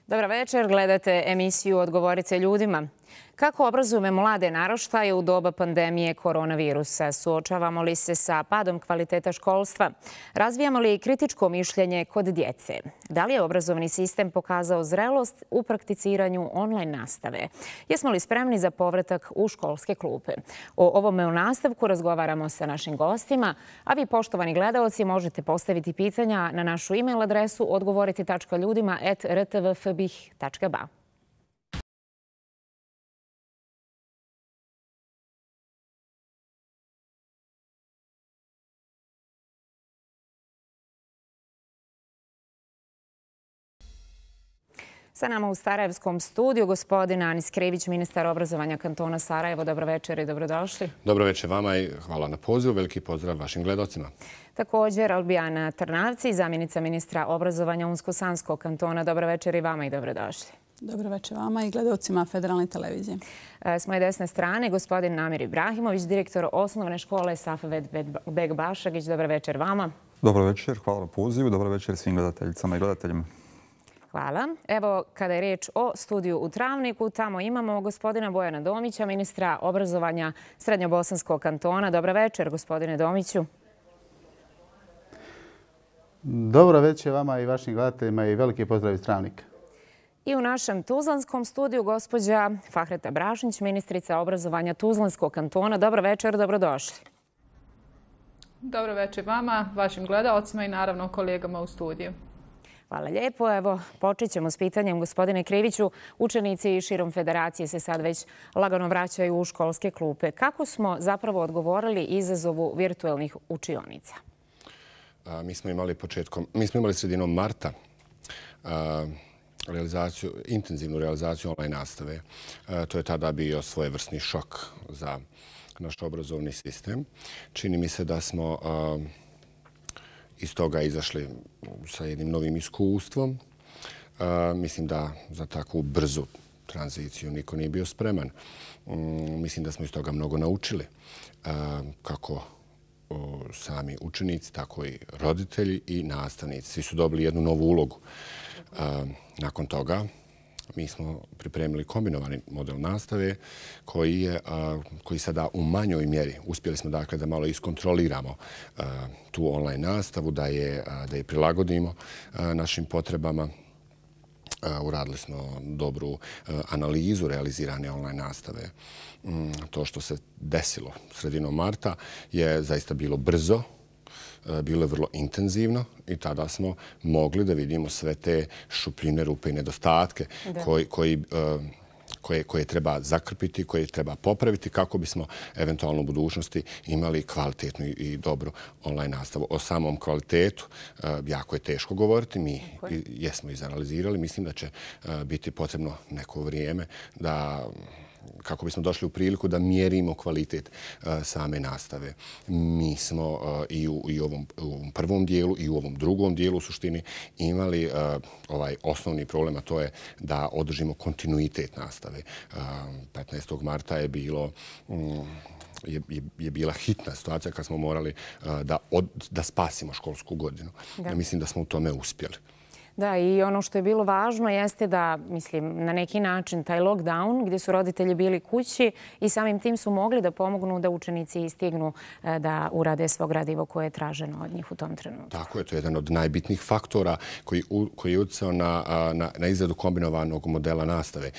Dobar večer, gledate emisiju Odgovorite ljudima. Kako obrazujemo mlade naraštaje u doba pandemije koronavirusa? Suočavamo li se sa padom kvaliteta školstva? Razvijamo li kritičko mišljenje kod djece? Da li je obrazovni sistem pokazao zrelost u prakticiranju online nastave? Jesmo li spremni za povratak u školske klupe? O ovome u nastavku razgovaramo sa našim gostima, a vi, poštovani gledaoci, možete postaviti pitanja na našu e-mail adresu odgovorite.ljudima@rtvfbih.ba. Sa nama u Sarajevskom studiju gospodin Anis Krivić, ministar obrazovanja kantona Sarajevo. Dobro večer i dobrodošli. Dobro večer vama i hvala na pozivu. Veliki pozdrav vašim gledocima. Također Albijana Trnavci, zamjenica ministra obrazovanja Unsko-Sanskog kantona. Dobro večer i vama i dobrodošli. Dobro večer vama i gledocima Federalne televizije. S moje desne strane gospodin Namir Ibrahimović, direktor osnovne škole Safaved Beg Bašagić. Dobro večer vama. Dobro večer, hvala na pozivu. Dobro večer svim gledateljicama i gledateljima. Hvala. Evo, kada je riječ o studiju u Travniku, tamo imamo gospodina Bojana Domića, ministra obrazovanja Srednjobosanskog kantona. Dobro večer, gospodine Domiću. Dobro večer vama i vašim gledateljima i veliki pozdrav iz Travnika. I u našem tuzlanskom studiju gospođa Fahreta Brašnić, ministrica obrazovanja Tuzlanskog kantona. Dobro večer, dobrodošli. Dobro večer vama, vašim gledaocima i naravno kolegama u studiju. Hvala lijepo. Evo, počet ćemo s pitanjem, gospodine Kriviću. Učenici širom federacije se sad već lagano vraćaju u školske klupe. Kako smo zapravo odgovorili izazovu virtualnih učionica? Mi smo imali sredinom marta intenzivnu realizaciju online nastave. To je tada bio svojevrsni šok za naš obrazovni sistem. Čini mi se da smo iz toga izašli sa jednim novim iskustvom. Mislim da za takvu brzu tranziciju niko nije bio spreman. Mislim da smo iz toga mnogo naučili. Kako sami učenici, tako i roditelji i nastavnici. Svi su dobili jednu novu ulogu. Nakon toga mi smo pripremili kombinovani model nastave koji sada u manjoj mjeri uspjeli smo dakle da malo iskontroliramo tu online nastavu, da je prilagodimo našim potrebama. Uradili smo dobru analizu realizirane online nastave. To što se desilo sredinom marta je zaista bilo brzo, bilo je vrlo intenzivno i tada smo mogli da vidimo sve te šupljine, rupe i nedostatke koje treba zakrpiti, koje treba popraviti kako bismo eventualno u budućnosti imali kvalitetnu i dobru online nastavu. O samom kvalitetu jako je teško govoriti. Mi jesmo izanalizirali. Mislim da će biti potrebno neko vrijeme kako bismo došli u priliku da mjerimo kvalitet same nastave. Mi smo i u ovom prvom dijelu i u ovom drugom dijelu u suštini imali ovaj osnovni problem, a to je da održimo kontinuitet nastave. 15. marta je bila hitna situacija kad smo morali da spasimo školsku godinu. Ja mislim da smo u tome uspjeli. Da, i ono što je bilo važno jeste da, na neki način taj lockdown gdje su roditelji bili kući i samim tim su mogli da pomognu da učenici stignu da urade svo gradivo koje je traženo od njih u tom trenutku. Tako je, to je jedan od najbitnijih faktora koji je utjecao na izradu kombinovanog modela nastave.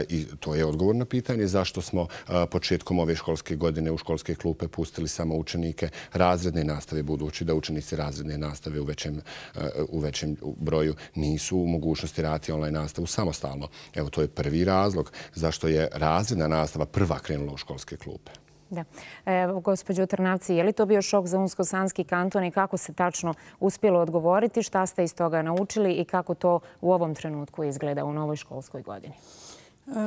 I to je odgovor na pitanje zašto smo početkom ove školske godine u školske klupe pustili samo učenike razredne nastave, budući da učenici razredne nastave u većem broju nisu u mogućnosti raditi online nastavu samostalno. Evo, to je prvi razlog zašto je razredna nastava prva krenula u školske klupe. Da. Evo, gospođo Trnavci, je li to bio šok za Unsko-Sanski kanton i kako se tačno uspjelo odgovoriti? Šta ste iz toga naučili i kako to u ovom trenutku izgleda u novoj školskoj godini?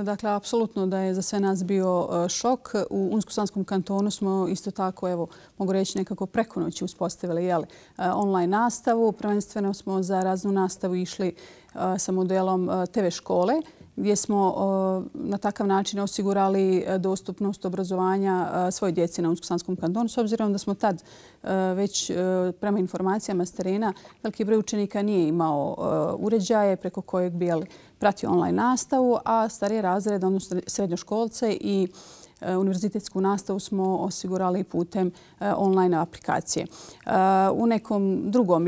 Dakle, apsolutno da je za sve nas bio šok. U Unsko-Sanskom kantonu smo isto tako, evo, mogu reći nekako preko noći uspostavili online nastavu. Prvenstveno smo za raznu nastavu išli sa modelom TV škole. gdje smo na takav način osigurali dostupnost obrazovanja svoje djece na Unsko-Sanskom kantonu. S obzirom da smo tad već prema informacijama s terena veliki broj učenika nije imao uređaje preko kojeg bi pratio online nastavu, a starije razrede, odnosno srednjoškolce i univerzitetsku nastavu smo osigurali putem online aplikacije. U nekom drugom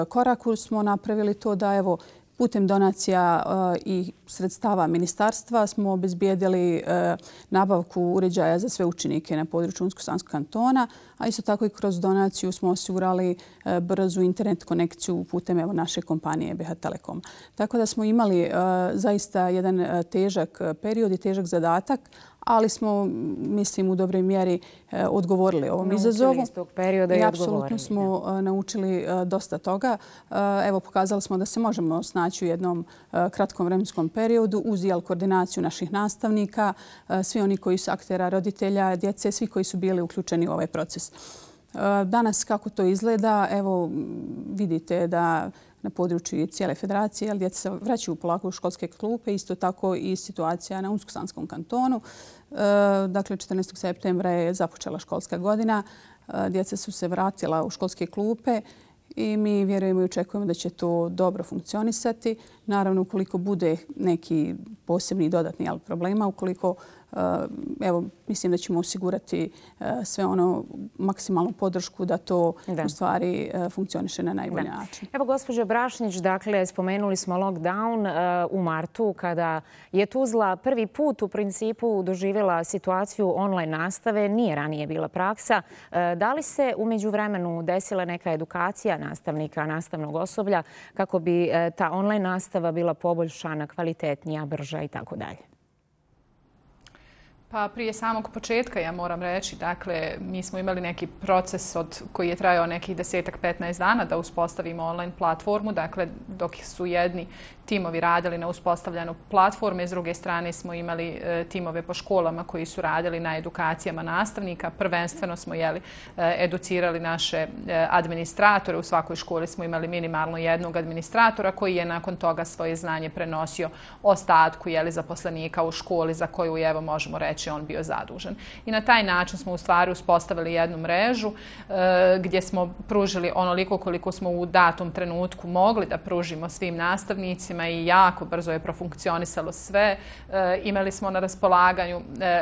koraku smo napravili to da putem donacija i sredstava ministarstva smo obezbijedili nabavku uređaja za sve učenike na području Unsko-Sanskog kantona, a isto tako i kroz donaciju smo osigurali brzu internet konekciju putem naše kompanije EBH Telekom. Tako da smo imali zaista jedan težak period i težak zadatak, ali smo, mislim, u dobroj mjeri odgovorili ovom izazovu. Naučili iz tog perioda i odgovorili. Apsolutno smo naučili dosta toga. Pokazali smo da se možemo snaći u jednom kratkom vremenskom periodu uz koordinaciju naših nastavnika, svi oni koji su aktera, roditelja, djece, svi koji su bili uključeni u ovaj proces. Danas kako to izgleda, vidite da na području cijele federacije, djeca se vraćaju polako u školske klupe, isto tako i situacija na Unsko-Sanskom kantonu. Dakle, 14. septembra je započela školska godina, djeca su se vratila u školske klupe i mi vjerujemo i očekujemo da će to dobro funkcionisati. Naravno, ukoliko bude neki posebni dodatni problema, ukoliko mislim da ćemo osigurati sve maksimalnu podršku da to u stvari funkcioniše na najbolji način. Evo, gospođo Brašnić, dakle, spomenuli smo lockdown u martu kada je Tuzla prvi put u principu doživjela situaciju online nastave. Nije ranije bila praksa. Da li se u međuvremenu desila neka edukacija nastavnika, nastavnog osoblja kako bi ta online nastava bila poboljšana, kvalitetnija, brža i tako dalje? Pa prije samog početka ja moram reći, dakle, mi smo imali neki proces koji je trajao nekih 10-15 dana da uspostavimo online platformu. Dakle, dok su jedni timovi radili na uspostavljanju platforme, s druge strane smo imali timove po školama koji su radili na edukacijama nastavnika. Prvenstveno smo educirali naše administratore. U svakoj školi smo imali minimalno jednog administratora koji je nakon toga svoje znanje prenosio ostatku zaposlenika u školi za koju možemo reći on bio zadužen. I na taj način smo u stvari uspostavili jednu mrežu gdje smo pružili onoliko koliko smo u datom trenutku mogli da pružimo svim nastavnicima i jako brzo je profunkcionisalo sve. Imali smo na raspolaganju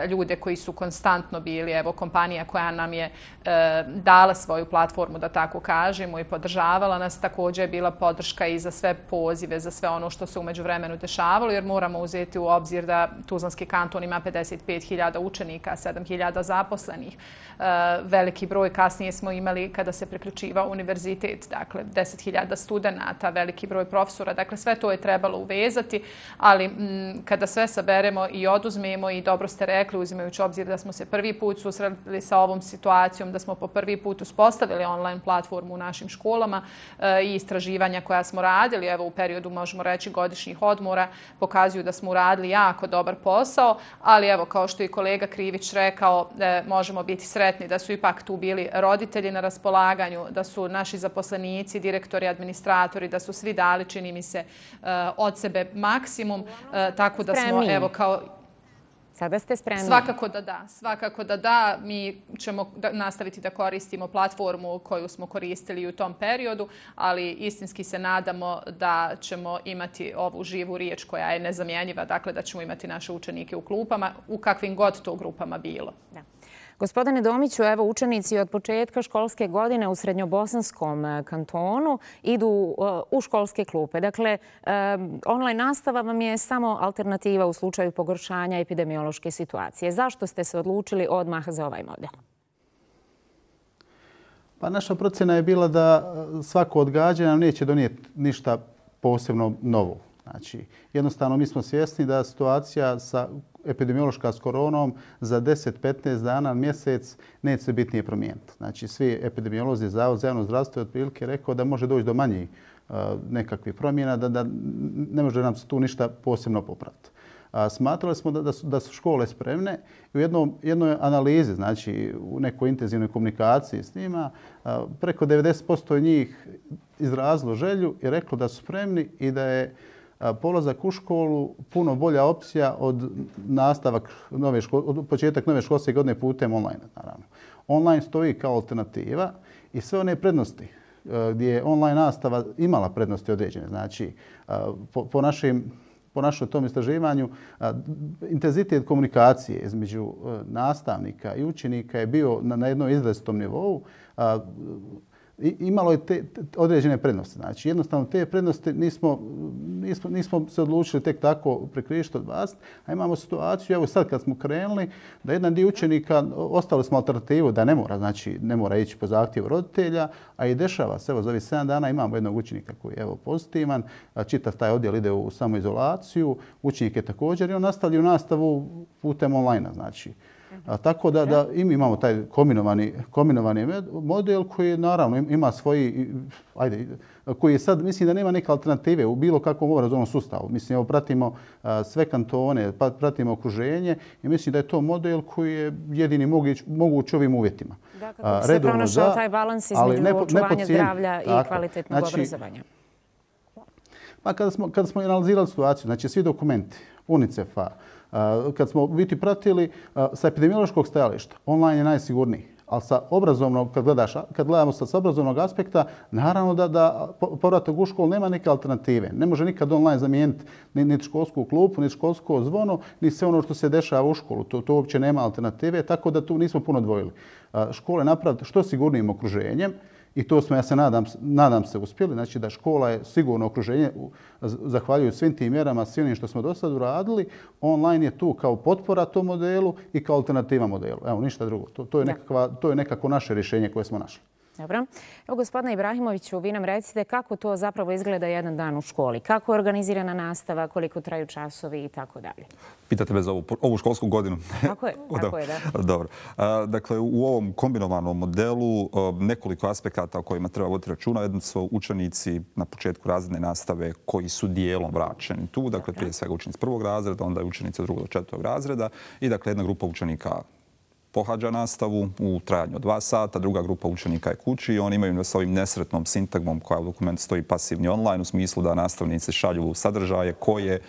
ljude koji su konstantno bili, kompanija koja nam je dala svoju platformu, da tako kažemo, i podržavala nas. Također je bila podrška i za sve pozive, za sve ono što se u međuvremenu dešavalo, jer moramo uzeti u obzir da Tuzlanski kanton ima 55.000 učenika, 7.000 zaposlenih. Veliki broj kasnije smo imali kada se priključivao univerzitet, dakle 10.000 studenata, veliki broj profesora, dakle sve to je trebalo uvezati, ali kada sve saberemo i oduzmemo, i dobro ste rekli, uzimajući obzir da smo se prvi put susreli sa ovom situacijom, da smo po prvi put uspostavili online platformu u našim školama i istraživanja koja smo radili, u periodu, možemo reći, godišnjih odmora, pokazuju da smo uradili jako dobar posao, ali kao što je kolega Krivić rekao, možemo biti sretni da su ipak tu bili roditelji na raspolaganju, da su naši zaposlenici, direktori, administratori, da su svi dali, čini mi se, od sebe maksimum, tako da smo kao... Sada ste spremni? Svakako da da. Mi ćemo nastaviti da koristimo platformu koju smo koristili u tom periodu, ali istinski se nadamo da ćemo imati ovu živu riječ koja je nezamjenjiva, dakle da ćemo imati naše učenike u klupama, u kakvim god to grupama bilo. Da. Gospodine Domiću, evo učenici od početka školske godine u Srednjobosanskom kantonu idu u školske klupe. Dakle, online nastava vam je samo alternativa u slučaju pogoršanja epidemiološke situacije. Zašto ste se odlučili odmah za ovaj model? Pa naša procjena je bila da svako odgađanje nam neće donijeti ništa posebno novo. Znači, jednostavno mi smo svjesni da situacija epidemiološka s koronom za 10-15 dana, mjesec, neće se bitnije promijeniti. Znači, svi epidemiolozi, Zavod za javno zdravstvo je otprilike rekao da može doći do manjih nekakvih promjena, da ne može nam se tu ništa posebno popraviti. Smatrali smo da su škole spremne i u jednoj analizi, znači u nekoj intenzivnoj komunikaciji s njima, preko 90% njih izrazilo želju i reklo da su spremni i da je polazak u školu puno bolja opcija od početak nove školske godine putem online. Naravno. Online stoji kao alternativa i sve one prednosti gdje je online nastava imala prednosti određene. Znači, po našem tom istraživanju, intenzitet komunikacije između nastavnika i učenika je bio na jednom izrazitom nivou. Imalo je određene prednosti. Znači, jednostavno te prednosti nismo se odlučili tek tako prekrižiti od vas. A imamo situaciju, evo sad kad smo krenuli, da jedan dio učenika, ostali smo alternativu da ne mora ići po zahtjevu roditelja, a i dešava se. Evo, za ovih 7 dana imamo jednog učenika koji je pozitivan, čitav taj odjel ide u samoizolaciju, učenik je također i on nastavlja nastavu putem online. Znači, tako da i mi imamo taj kombinovani model koji naravno ima svoji, koji sad mislim da nema neke alternative u bilo kakvom obrazovnom sustavu. Mislim, evo pratimo sve kantone, pratimo okruženje i mislim da je to model koji je jedini moguć ovim uvjetima. Da, kako bi se pronašao taj balans između očuvanja zdravlja i kvalitetnog obrazovanja. Pa kada smo analizirali situaciju, znači svi dokumenti UNICEF-a, kad smo biti pratili sa epidemiološkog stajališta, online je najsigurniji. Ali sa obrazovnog, kad gledamo sa obrazovnog aspekta, naravno da povratak u školu nema neke alternative. Ne može nikad online zamijeniti niti školsku klupu, niti školsko zvono, ni sve ono što se dešava u školu. To uopće nema alternative, tako da tu nismo puno dvojili. Škole napraviti što sigurnijim okruženjem, i to smo, ja se nadam se, uspjeli. Znači da škola je sigurno okruženje, zahvaljujući svim tim mjerama, svim onim što smo do sad uradili. Online je tu kao potpora tom modelu i kao alternativa modelu. Evo, ništa drugo. To je nekako naše rješenje koje smo našli. Dobro. Evo, gospodine Ibrahimoviću, vi nam recite kako to zapravo izgleda jedan dan u školi. Kako je organizirana nastava, koliko traju časovi i tako dalje. Pitate me za ovu školsku godinu? Tako je, da. Dobro. Dakle, u ovom kombinovanom modelu nekoliko aspekata o kojima treba voditi računa. Jedno su učenici na početku razredne nastave koji su dijelom vraćeni tu. Dakle, prije svega učenici 1. razreda, onda i učenici od 2. do 4. razreda i dakle jedna grupa učenika pohađa nastavu u trajanju od 2 sata, druga grupa učenika je kući i oni imaju sa ovim nesretnom sintagmom koja u dokumentu stoji pasivni online u smislu da nastavnici šalju sadržaje koje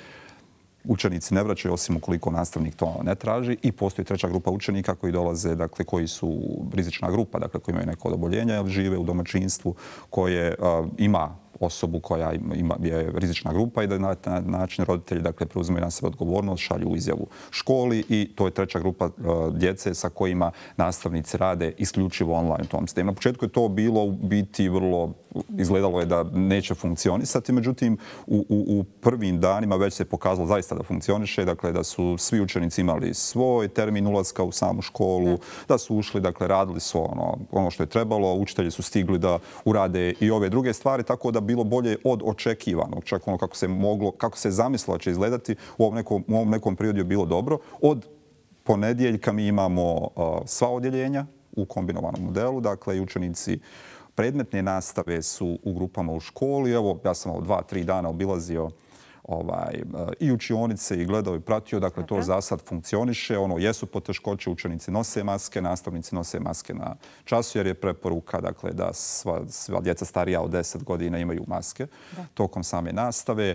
učenici ne vraćaju osim ukoliko nastavnik to ne traži i postoji treća grupa učenika koji dolaze, dakle koji su rizična grupa, dakle koji imaju neko od oboljenja ili žive u domaćinstvu koje ima osobu koja je rizična grupa i da na taj način roditelji preuzimaju na sebe odgovornost, šalju izjavu školi i to je treća grupa djece sa kojima nastavnici rade isključivo online u tom sistemu. Na početku je to bilo u biti vrlo, izgledalo je da neće funkcionisati, međutim u prvim danima već se pokazalo zaista da funkcioniše, dakle da su svi učenici imali svoj termin ulaska u samu školu, da su ušli, dakle radili su ono što je trebalo, učitelji su stigli da urade i ove druge stvari, tako da bilo bolje od očekivanog. Čak ono kako se zamislilo će izgledati u ovom nekom periodu je bilo dobro. Od ponedjeljka mi imamo sva odjeljenja u kombinovanom modelu. Dakle, i učenici predmetne nastave su u grupama u školi. Evo, ja sam 2-3 dana obilazio i učionice i gledao i pratio. Dakle, to za sad funkcioniše. Jesu poteškoće, učenici nose maske, nastavnici nose maske na času jer je preporuka da sva djeca starija od 10 godina imaju maske tokom same nastave.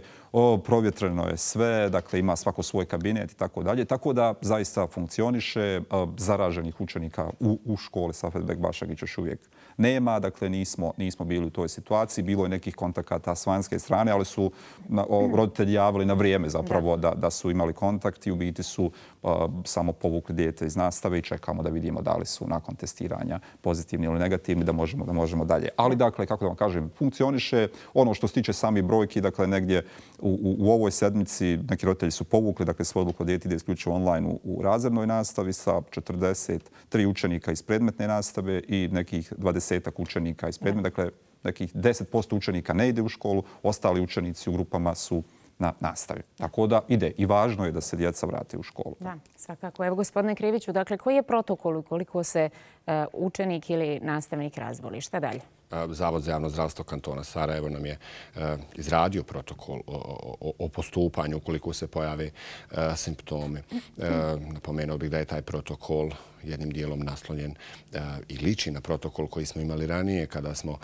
Provjetreno je sve, dakle ima svako svoj kabinet i tako dalje. Tako da zaista funkcioniše. Zaraženih učenika u školi Safet Bašagić još uvijek nema. Dakle, nismo bili u toj situaciji. Bilo je nekih kontakata s vanjske strane, ali su roditelji javili na vrijeme zapravo da su imali kontakt i u biti su samo povukli dijete iz nastave i čekamo da vidimo da li su nakon testiranja pozitivni ili negativni, da možemo dalje. Ali, dakle, kako da vam kažem, funkcioniše. Ono što se tiče sami brojki, dakle, negdje u ovoj sedmici neki roditelji su povukli, dakle, svoju odluku da dijete ide isključivo online u razrednoj nastavi sa 43 učenika iz predmetne nastave i nekih 20 učenika iz predmeta. Dakle, nekih 10% učenika ne ide u školu, ostali učenici u grupama su na nastavi. Tako da ide i važno je da se djeca vrate u školu. Da, svakako. Evo, gospodine Kriviću, dakle, koji je protokol ukoliko se učenik ili nastavnik razboli? Šta dalje? Zavod za javno zdravstvo kantona Sarajevo nam je izradio protokol o postupanju ukoliko se pojave simptomi. Napomenuo bih da je taj protokol jednim dijelom naslonjen i liči na protokol koji smo imali ranije kada smo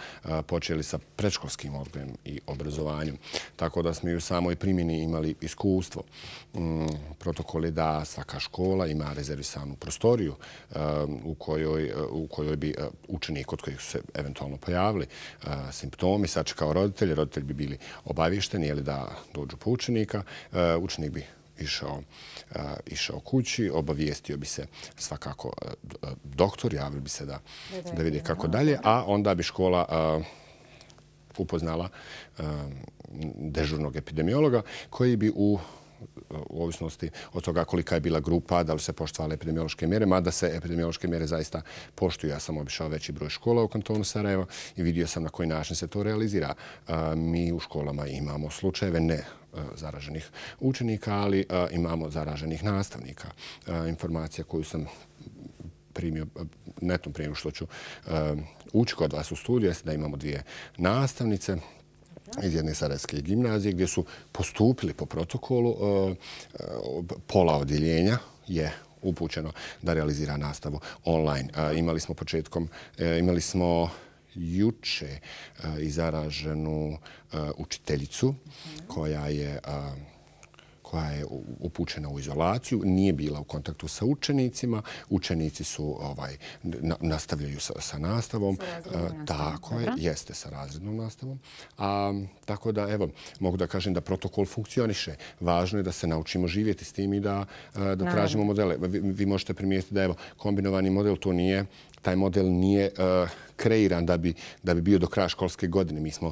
počeli sa predškolskim odgojem i obrazovanjem. Tako da smo i u samoj primjeni imali iskustvo. Protokol je da svaka škola ima rezervisanu prostoriju u kojoj bi učenik kod kojih su se eventualno pojavili simptomi sačekao roditelji. Roditelji bi bili obavješteni da dođu po učenika. Učenik bi išao kući, obavijestio bi se svakako doktor, javili bi se da vidi kako dalje, a onda bi škola upoznala dežurnog epidemiologa koji bi u ovisnosti od toga kolika je bila grupa, da li se poštovale epidemiološke mjere, mada se epidemiološke mjere zaista poštuju. Ja sam obišao veći broj škola u kantonu Sarajevo i vidio sam na koji način se to realizira. Mi u školama imamo slučajeve ne zaraženih učenika, ali imamo zaraženih nastavnika. Informacija koju sam primio, netom prije što ću ući kod vas u studiju, je da imamo 2 nastavnice iz jedne sarajevske gimnazije gdje su postupili po protokolu. Pola odjeljenja je upućeno da realizira nastavu online. Imali smo juče i zaraženu učiteljicu koja je upućena u izolaciju, nije bila u kontaktu sa učenicima. Učenici su nastavljaju sa nastavom. Tako je, jeste sa razrednom nastavom. Tako da, evo, mogu da kažem da protokol funkcioniše. Važno je da se naučimo živjeti s tim i da tražimo modele. Vi možete primijetiti da, evo, kombinovani model to nije, taj model nije kreiran da bi bio do kraja školske godine. Mi smo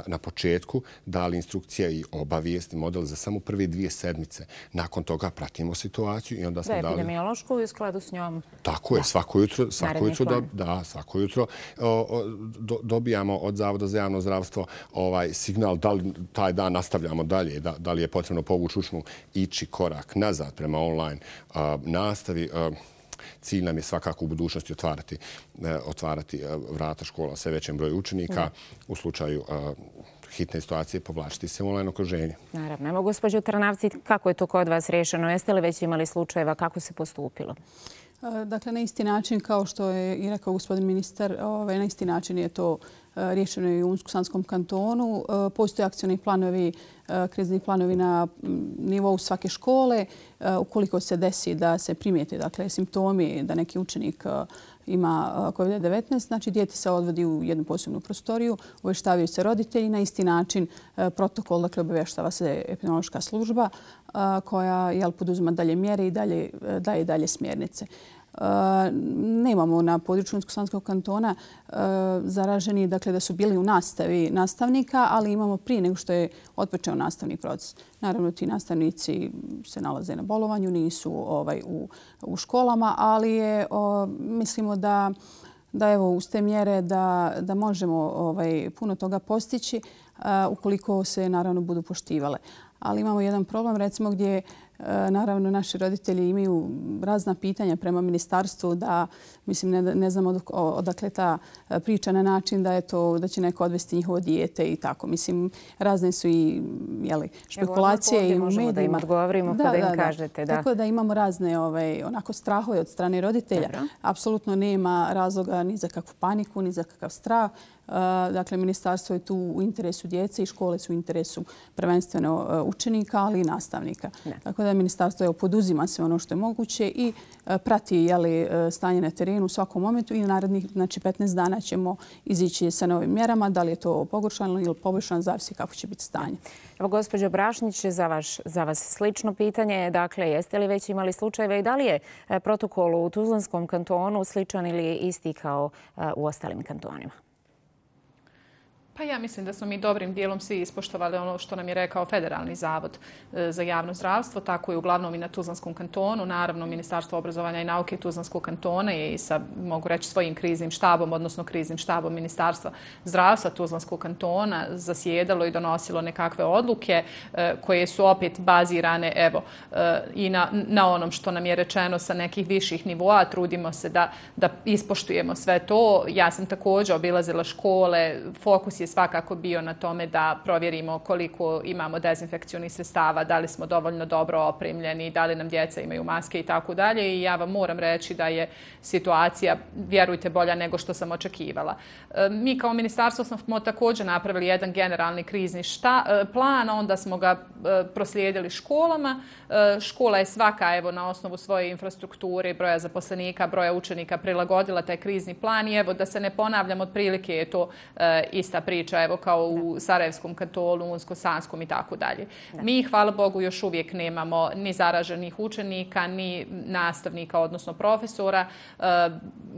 na početku dali instrukcije i obavijesti model za samo prve 2 sedmice. Nakon toga pratimo situaciju i onda smo dali... Da, epidemiološku i u skladu s njom. Tako je, svako jutro dobijamo od Zavoda za javno zdravstvo signal da li taj dan nastavljamo dalje, da li je potrebno povući učnu, ići korak nazad prema online nastavi. Cilj nam je svakako u budućnosti otvarati vrata škola sve većem broju učenika. U slučaju hitne situacije povlačiti se u online okruženje. Naravno. Evo, gospođo Trnavci, kako je to kod vas rješeno? Jeste li već imali slučajeva? Kako se postupilo? Dakle, na isti način kao što je i rekao gospodin ministar, na isti način je to riješeno i u Unsko-Sanskom kantonu. Postoje akcioni planovi, krizni planovi na nivou svake škole. Ukoliko se desi da se primijeti simptomi da neki učenik ima COVID-19, znači dijete se odvodi u jednu posebnu prostoriju, obavještavaju se roditelji. Na isti način protokol, dakle obavještava se epidemiološka služba koja poduzima dalje mjere i daje dalje smjernice. Nemamo na području Unsko-Sanskog kantona zaraženi, dakle da su bili u nastavi nastavnika, ali imamo prije nego što je otpočeo nastavni proces. Naravno, ti nastavnici se nalaze na bolovanju, nisu u školama, ali mislimo da evo uz te mjere da možemo puno toga postići ukoliko se naravno budu poštivale. Ali imamo jedan problem, recimo gdje naravno naši roditelji imaju razna pitanja prema ministarstvu da, mislim, ne znamo odakle ta priča na način da će neko odvesti njihovo dijete i tako. Mislim, razne su i špekulacije i u medijima. Možemo da im odgovorimo kada im kažete. Tako da imamo razne onako strahove od strane roditelja. Apsolutno nema razloga ni za kakvu paniku, ni za kakav strah. Dakle, ministarstvo je tu u interesu djece i škole su u interesu prvenstveno učenika, ali i nastavnika. Tako da ministarstvo poduzima sve ono što je moguće i prati stanje na terenu u svakom momentu i narednih 15 dana ćemo izići sa novim mjerama. Da li je to pogoršano ili poboljšano, zavisi kako će biti stanje. Evo, gospođo Brašnić, za vas slično pitanje. Dakle, jeste li već imali slučajeve i da li je protokol u Tuzlanskom kantonu sličan ili isti kao u ostalim kantonima? Pa ja mislim da smo mi dobrim dijelom svi ispoštovali ono što nam je rekao Federalni zavod za javno zdravstvo, tako je uglavnom i na Tuzlanskom kantonu. Naravno, Ministarstvo obrazovanja i nauke Tuzlanskog kantona je i sa, mogu reći, svojim kriznim štabom, odnosno kriznim štabom Ministarstva zdravstva Tuzlanskog kantona zasjedalo i donosilo nekakve odluke koje su opet bazirane i na onom što nam je rečeno sa nekih viših nivoa. Trudimo se da ispoštujemo sve to. Ja sam također obilazila škole, fokus je svakako bio na tome da provjerimo koliko imamo dezinfekcionih sredstava, da li smo dovoljno dobro opremljeni, da li nam djeca imaju maske i tako dalje. I ja vam moram reći da je situacija, vjerujte, bolja nego što sam očekivala. Mi kao ministarstvo smo također napravili jedan generalni krizni plan, onda smo ga proslijedili školama. Škola je svaka na osnovu svoje infrastrukture, broja zaposlenika, broja učenika prilagodila taj krizni plan i da se ne ponavljam, otprilike je to ista priča, kao u Sarajevskom kantonu, Unsko-Sanskom i tako dalje. Mi, hvala Bogu, još uvijek nemamo ni zaraženih učenika, ni nastavnika, odnosno profesora.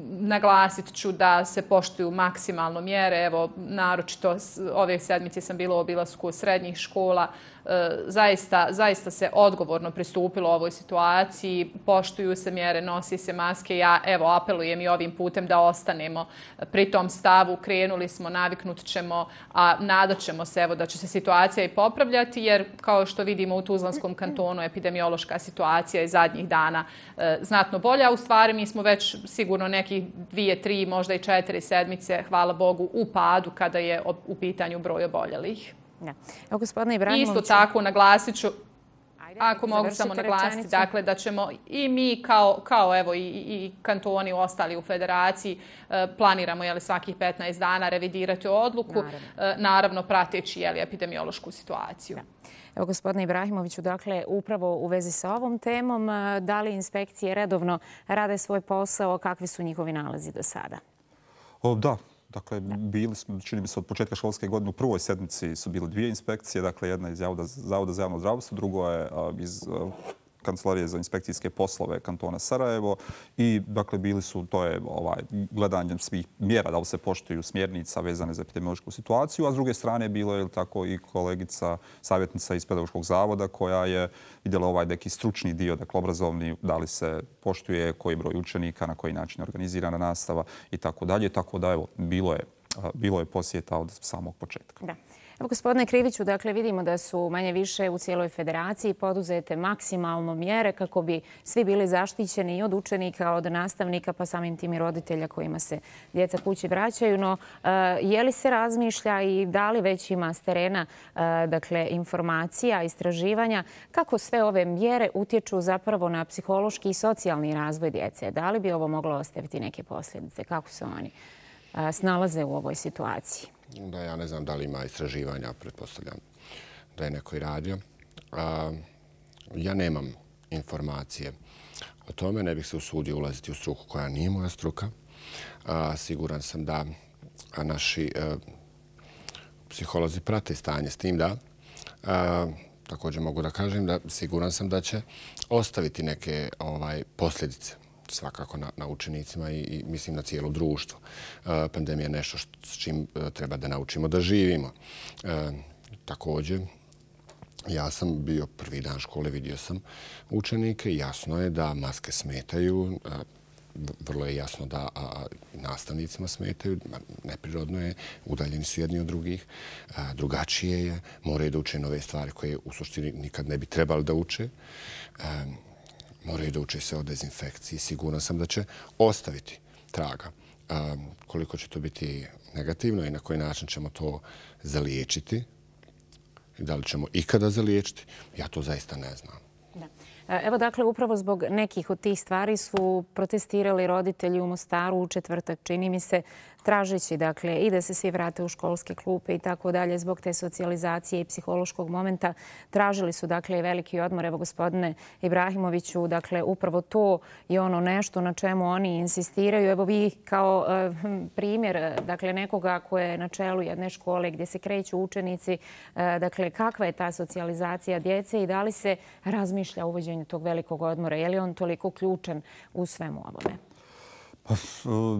Naglasit ću da se poštuju maksimalno mjere. Naročito ove sedmice sam bila u obilasku srednjih škola. Zaista se odgovorno pristupilo ovoj situaciji, poštuju se mjere, nosi se maske. Ja apelujem i ovim putem da ostanemo pri tom stavu. Krenuli smo, naviknut ćemo, a nadat ćemo se da će se situacija i popravljati, jer kao što vidimo u Tuzlanskom kantonu epidemiološka situacija je zadnjih dana znatno bolja. U stvari mi smo već sigurno nekih 2, 3, možda i 4 sedmice, hvala Bogu, u padu kada je u pitanju broj oboljelih. Evo, gospodine Ibrahimoviću. Isto tako naglasit ću, ako mogu samo naglasiti, dakle, da ćemo i mi kao i kantoni ostali u federaciji planiramo svakih 15 dana revidirati odluku, naravno prateći epidemiološku situaciju. Evo, gospodine Ibrahimoviću, dakle, upravo u vezi sa ovom temom, da li inspekcije redovno rade svoj posao, kakvi su njihovi nalazi do sada? Da. Dakle, bili smo, čini mi se, od početka školske godine u prvoj sedmici su bile 2 inspekcije. Dakle, jedna iz Zavoda za javno zdravstvo, drugo je iz Kancelarije za inspekcijske poslove kantona Sarajevo. I, dakle, bili su, to je gledanjem svih mjera da li se poštuju smjernica vezane za epidemiološku situaciju, a s druge strane bilo je tako i kolegica, savjetnica iz Pedagoškog zavoda koja je vidjela neki stručni dio, dakle, obrazovni, da li se poštuje, koji broj učenika, na koji način je organizirana nastava i tako dalje. Tako da, evo, bilo je posjeta od samog početka. Da. Evo, gospodine Kriviću, dakle, vidimo da su manje više u cijeloj federaciji poduzete maksimalno mjere kako bi svi bili zaštićeni i od učenika, od nastavnika, pa samim tim i roditelja kojima se djeca kući vraćaju. No, je li se razmišlja i da li već ima s terena dakle, informacija, istraživanja, kako sve ove mjere utječu zapravo na psihološki i socijalni razvoj djece? Da li bi ovo moglo ostaviti neke posljedice? Kako se oni snalaze u ovoj situaciji? Da, ja ne znam da li ima istraživanja, pretpostavljam da je neko i radio. Ja nemam informacije o tome, ne bih se usudio ulaziti u struku koja nije moja struka. Siguran sam da naši psiholozi prate stanje s tim da. Također mogu da kažem da siguran sam da će ostaviti neke posljedice svakako na učenicima i mislim na cijelo društvo. Pandemija je nešto s čim treba da naučimo da živimo. Također, ja sam bio prvi dan škole, vidio sam učenike. Jasno je da maske smetaju. Vrlo je jasno da nastavnicima smetaju. Neprirodno je, udaljeni su jedni od drugih. Drugačije je. Moraju da uče nove stvari koje u suštini nikad ne bi trebali da uče. Moraju da uče se o dezinfekciji. Siguran sam da će ostaviti traga. Koliko će to biti negativno i na koji način ćemo to zaliječiti i da li ćemo ikada zaliječiti, ja to zaista ne znam. Evo, dakle, upravo zbog nekih od tih stvari su protestirali roditelji u Mostaru u četvrtak, čini mi se, tražeći, dakle, i da se svi vrate u školske klupe i tako dalje zbog te socijalizacije i psihološkog momenta. Tražili su, dakle, i veliki odmor. Evo, gospodine Ibrahimoviću, dakle, upravo to je ono nešto na čemu oni insistiraju. Evo, vi kao primjer, dakle, nekoga koje je na čelu jedne škole gdje se kreću učenici, dakle, kakva je ta socijalizacija djece i da li se razmišlja o uvođenju tog velikog odmora? Je li on toliko ključan u svemu ovome?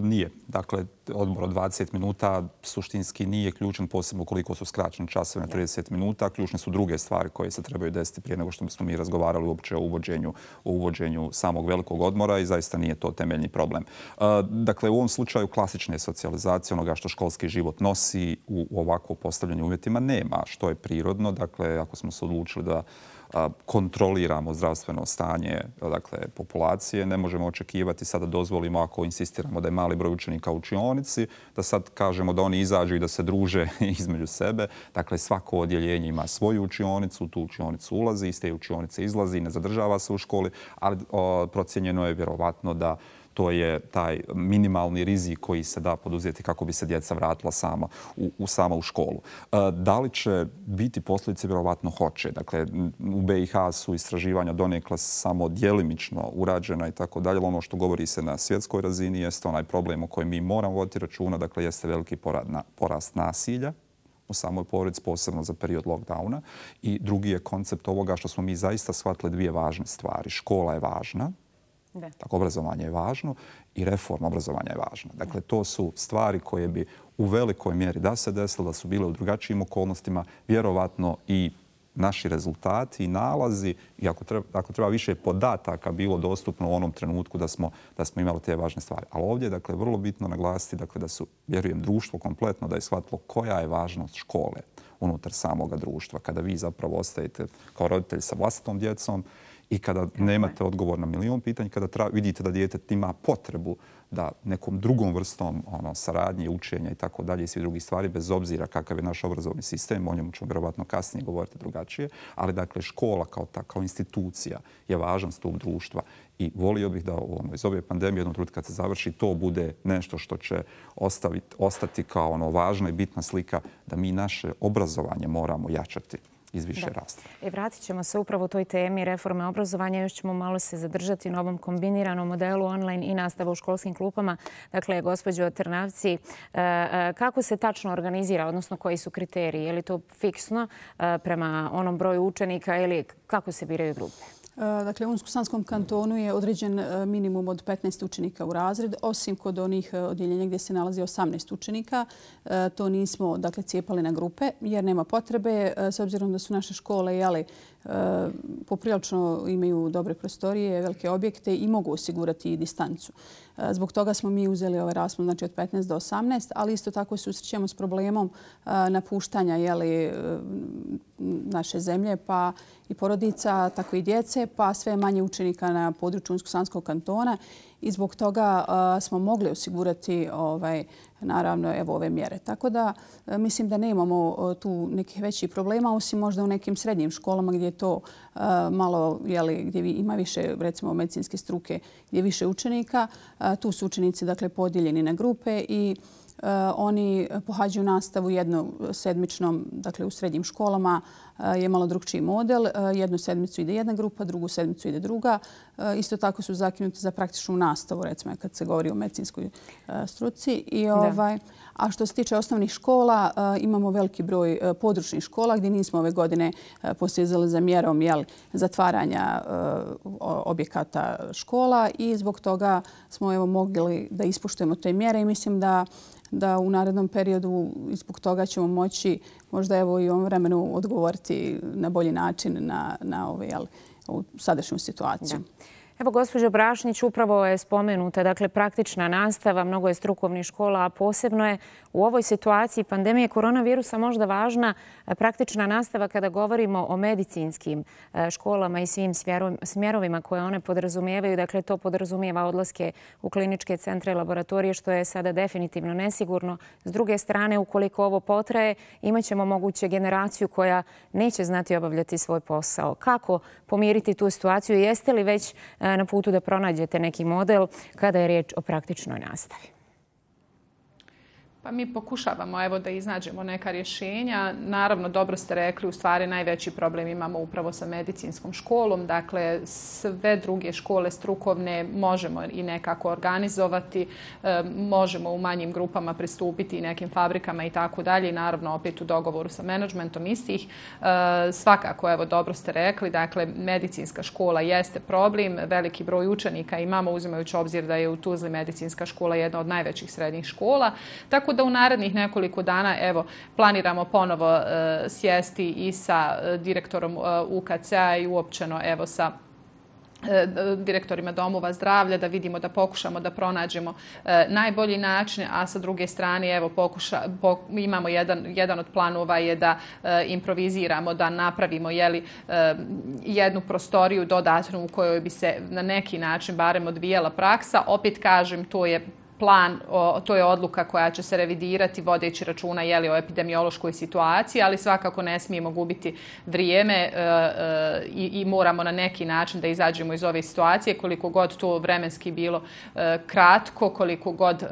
Nije. Dakle, odmor od 20 minuta suštinski nije ključan, posebno koliko su skraćeni časovi na 30 minuta. Ključne su druge stvari koje se trebaju desiti prije nego što smo mi razgovarali uopće o uvođenju samog velikog odmora i zaista nije to temeljni problem. Dakle, u ovom slučaju klasične socijalizacije, onoga što školski život nosi u ovako postavljenim uvjetima nema, što je prirodno. Dakle, ako smo se odlučili da kontroliramo zdravstveno stanje populacije, ne možemo očekivati sada dozvolimo, ako insistiramo da je mali broj učenika u učionici, da sad kažemo da oni izađu i da se druže između sebe. Dakle, svako odjeljenje ima svoju učionicu, u tu učionicu ulazi, iz te učionice izlazi, ne zadržava se u školi, ali procijenjeno je vjerovatno da to je taj minimalni rizik koji se da poduzeti kako bi se djeca vratila sama u školu. Da li će biti posljedice? Vjerovatno hoće. Dakle, u BiH su istraživanja donekle samo djelimično urađena i tako dalje. Ono što govori se na svjetskoj razini jeste onaj problem o kojem mi moramo voditi računa. Dakle, jeste veliki porast nasilja u samoj porodici, posebno za period lockdowna. I drugi je koncept ovoga što smo mi zaista shvatili dvije važne stvari. Škola je važna, tako obrazovanje je važno i reforma obrazovanja je važna. Dakle, to su stvari koje bi u velikoj mjeri da se desilo, da su bile u drugačijim okolnostima, vjerovatno i naši rezultati i nalazi, i ako treba više podataka bilo dostupno u onom trenutku da smo imali te važne stvari. Ali ovdje je dakle, vrlo bitno naglasiti da su, vjerujem, društvo kompletno da je shvatilo koja je važnost škole unutar samoga društva. Kada vi zapravo ostajete kao roditelji sa vlastitom djecom i kada nemate odgovor na milion pitanja, kada vidite da dijete ima potrebu da nekom drugom vrstom saradnje, učenja i tako dalje i svi drugi stvari, bez obzira kakav je naš obrazovni sistem, o njemu ćemo vjerovatno kasnije govoriti drugačije, ali dakle škola kao institucija je važan stup društva i volio bih da iz ove pandemije jednom trenutku kad se završi to bude nešto što će ostati kao važna i bitna slika da mi naše obrazovanje moramo jačati iz više rasta. Vratit ćemo se upravo toj temi reforme obrazovanja. Još ćemo malo se zadržati na ovom kombiniranom modelu online i nastava u školskim klupama. Dakle, gospođo Trnavci, kako se tačno organizira, odnosno koji su kriteriji? Je li to fiksno prema onom broju učenika ili kako se biraju grupe? Dakle, u Unsko-Sanskom kantonu je određen minimum od 15 učenika u razred, osim kod onih odjeljenja gdje se nalazi 18 učenika. To nismo cijepali na grupe jer nema potrebe, s obzirom da su naše škole poprilično imaju dobre prostorije, velike objekte i mogu osigurati i distancu. Zbog toga smo mi uzeli ovaj raspon od 15 do 18, ali isto tako susrećemo s problemom napuštanja naše zemlje, pa i porodica, tako i djece, pa sve manje učenika na području Unsko-Sanskog kantona i zbog toga smo mogli osigurati naravno ove mjere. Tako da mislim da nemamo tu nekih većih problema, osim možda u nekim srednjim školama gdje je to malo, gdje ima više recimo medicinske struke, gdje je više učenika. Tu su učenici podijeljeni na grupe i oni pohađaju nastavu jednosedmičnom, dakle u srednjim školama je malo drugčiji model. Jednu sedmicu ide jedna grupa, drugu sedmicu ide druga. Isto tako su zakinuti za praktičnu nastavu, recimo kad se govori o medicinskoj struci. A što se tiče osnovnih škola, imamo veliki broj područnih škola gdje nismo ove godine posezali za mjerom zatvaranja objekata škola i zbog toga smo mogli da ispoštujemo te mjere i mislim da u narednom periodu zbog toga ćemo moći možda i u ovom vremenu odgovoriti na bolji način na ovu sadašnju situaciju. Evo, gospođo Brašnić, upravo je spomenuta, dakle, praktična nastava, mnogo je strukovnih škola, a posebno je u ovoj situaciji pandemije koronavirusa možda važna praktična nastava kada govorimo o medicinskim školama i svim smjerovima koje one podrazumijevaju. Dakle, to podrazumijeva odlaske u kliničke centre i laboratorije, što je sada definitivno nesigurno. S druge strane, ukoliko ovo potraje, imat ćemo moguće generaciju koja neće znati obavljati svoj posao. Kako pomiriti tu situaciju? Jeste li već na putu da pronađete neki model kada je riječ o praktičnoj nastavi? Pa mi pokušavamo da iznađemo neka rješenja. Naravno, dobro ste rekli, u stvari najveći problem imamo upravo sa medicinskom školom. Dakle, sve druge škole strukovne možemo i nekako organizovati. Možemo u manjim grupama pristupiti i nekim fabrikama i tako dalje. I naravno, opet u dogovoru sa menadžmentom istih. Svakako, dobro ste rekli, dakle, medicinska škola jeste problem. Veliki broj učenika imamo, uzimajući obzir da je u Tuzli medicinska škola jedna od najvećih srednjih škola. Tako da u narednih nekoliko dana planiramo ponovo sjesti i sa direktorom UKC-a i uopćeno sa direktorima domova zdravlja da vidimo, da pokušamo da pronađemo najbolji način, a sa druge strane imamo jedan od planova je da improviziramo, da napravimo jednu prostoriju dodatnu u kojoj bi se na neki način barem odvijala praksa. Opet kažem, to je plan, to je odluka koja će se revidirati vodeći računa o epidemiološkoj situaciji, ali svakako ne smijemo gubiti vrijeme i moramo na neki način da izađemo iz ove situacije, koliko god to vremenski bilo kratko, koliko god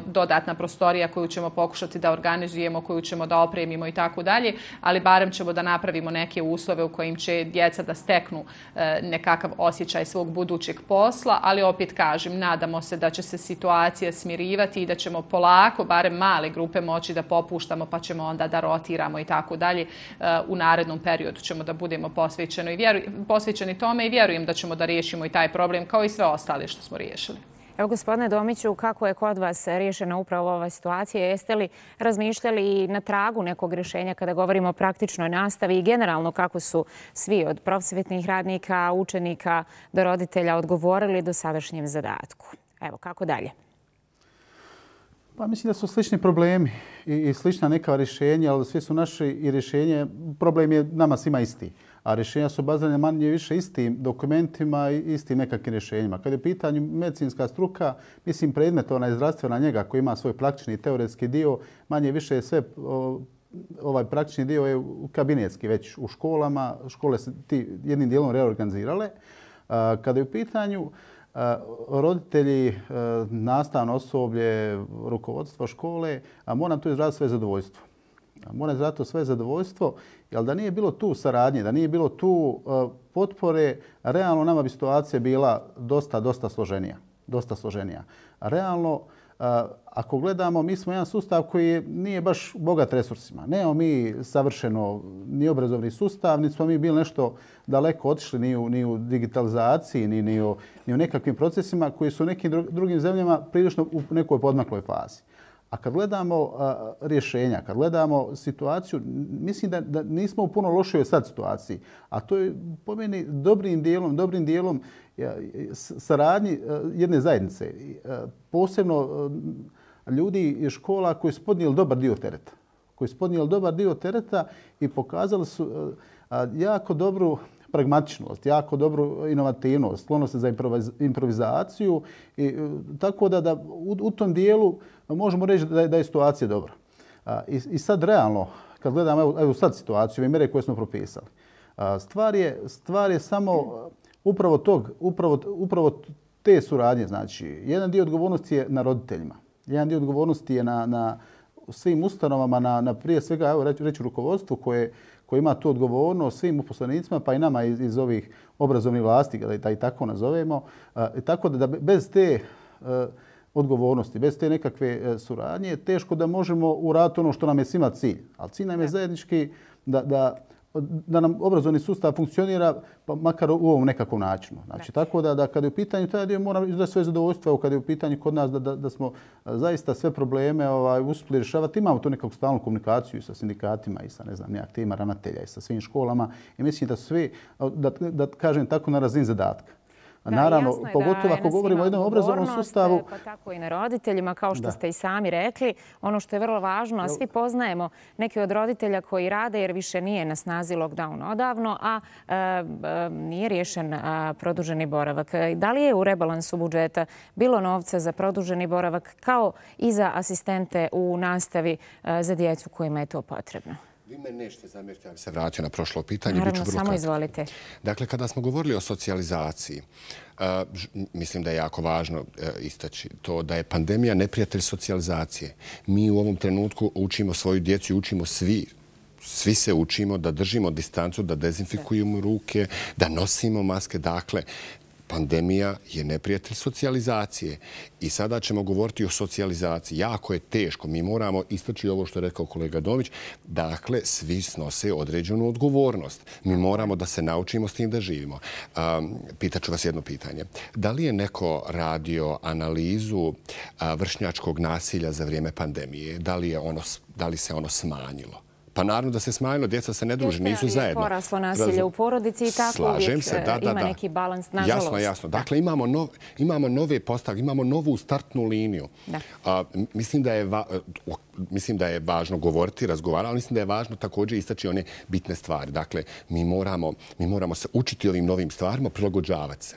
dodatna prostorija koju ćemo pokušati da organizujemo, koju ćemo da opremimo i tako dalje, ali barem ćemo da napravimo neke uslove u kojim će djeca da steknu nekakav osjećaj svog budućeg posla, ali opet kažem, nadamo se da će se situacija smirivati i da ćemo polako, barem male grupe, moći da popuštamo pa ćemo onda da rotiramo i tako dalje. U narednom periodu ćemo da budemo posvećeni tome i vjerujem da ćemo da riješimo i taj problem kao i sve ostale što smo riješili. Evo, gospodine Domiću, kako je kod vas riješena upravo ova situacija? Jeste li razmišljali na tragu nekog rješenja kada govorimo o praktičnoj nastavi i generalno kako su svi od prosvjetnih radnika, učenika do roditelja odgovorili do sadašnjem zadatku? Evo, kako dalje? Pa mislim da su slični problemi i slična neka rješenja, ali svi su naši i rješenje. Problem je nama svima isti, a rješenja su bazirane manje više istim dokumentima i istim nekakvim rješenjima. Kad je u pitanju medicinska struka, mislim predmet onaj zdravstvena njega koji ima svoj praktični i teoretski dio, manje više je sve ovaj praktični dio je kabinetski već u školama. Škole se jednim dijelom reorganizirale. Kada je u pitanju roditelji, nastavno osoblje, rukovodstvo škole, moram tu izraziti sve zadovoljstvo. Moram izraziti sve zadovoljstvo, jer da nije bilo tu saradnje, da nije bilo tu potpore, realno nama bi situacija bila dosta složenija. Realno, ako gledamo, mi smo jedan sustav koji nije baš bogat resursima. Nemamo mi savršeno ni obrazovni sustav, niti smo mi bili nešto daleko otišli ni u digitalizaciji, ni u nekakvim procesima koji su u nekim drugim zemljama prilično u nekoj podmakloj fazi. A kad gledamo rješenja, kad gledamo situaciju, mislim da nismo u puno lošoj sad situaciji. A to je po meni dobrim dijelom saradnji jedne zajednice. Posebno ljudi iz škola koji su podnijeli dobar dio tereta i pokazali su jako dobru pragmatičnost, jako dobru inovativnost, sklonost za improvizaciju. Tako da u tom dijelu možemo reći da je situacija dobra. I sad realno, kad gledamo evo sad situaciju, ove mjere koje smo propisali, stvar je samo upravo te suradnje. Znači, jedan dio odgovornosti je na roditeljima, jedan dio odgovornosti je na svim ustanovama, na prije svega, evo reći rukovodstvu koje ima tu odgovornost, svim uposlenicima, pa i nama iz ovih obrazovnih vlasti, da i tako nazovemo. Tako da bez te odgovornosti, bez te nekakve suradnje, teško da možemo uraditi ono što nam je svima cilj. Ali cilj nam je zajednički da nam obrazovni sustav funkcionira, pa makar u ovom nekakvom načinu. Znači, tako da kada je u pitanju taj dio, moram izraziti sve zadovoljstvo. Kada je u pitanju kod nas da smo zaista sve probleme uspjeli rješavati. Imamo tu nekakvu stalnu komunikaciju sa sindikatima i sa aktivima ravnatelja i sa svim školama. I mislim da svi, da kažem tako, na razini zadatka. Naravno, pogotovo ako govorimo o jednom obrazovnom sustavu. Pa tako i na roditeljima, kao što ste i sami rekli. Ono što je vrlo važno, a svi poznajemo neke od roditelja koji rade jer više nije na snazi lockdown odavno, a nije riješen produženi boravak. Da li je u rebalansu budžeta bilo novca za produženi boravak kao i za asistente u nastavi za djecu kojima je to potrebno? Vi me nećete zamjeriti, ja bih se vratio na prošlo pitanje. Naravno, samo izvolite. Dakle, kada smo govorili o socijalizaciji, mislim da je jako važno istaći to da je pandemija neprijatelj socijalizacije. Mi u ovom trenutku učimo svoju djecu i učimo svi se učimo da držimo distancu, da dezinfikujemo ruke, da nosimo maske. Dakle, pandemija je neprijatelj socijalizacije. I sada ćemo govoriti o socijalizaciji. Jako je teško. Mi moramo istaći ovo što je rekao kolega Domić. Dakle, svi snose određenu odgovornost. Mi moramo da se naučimo s tim da živimo. Pitaću vas jedno pitanje. Da li je neko radio analizu vršnjačkog nasilja za vrijeme pandemije? Da li se ono smanjilo? Pa naravno da se smanjilo, djeca se ne druže, nisu zajedno. Je poraslo nasilje u porodici i tako uvijek ima neki balans, nažalost. Jasno, jasno. Dakle, imamo nove postavke, imamo novu startnu liniju. Mislim da je važno govoriti, razgovarati, ali mislim da je važno također istaći one bitne stvari. Dakle, mi moramo se učiti ovim novim stvarima, prilagođavati se.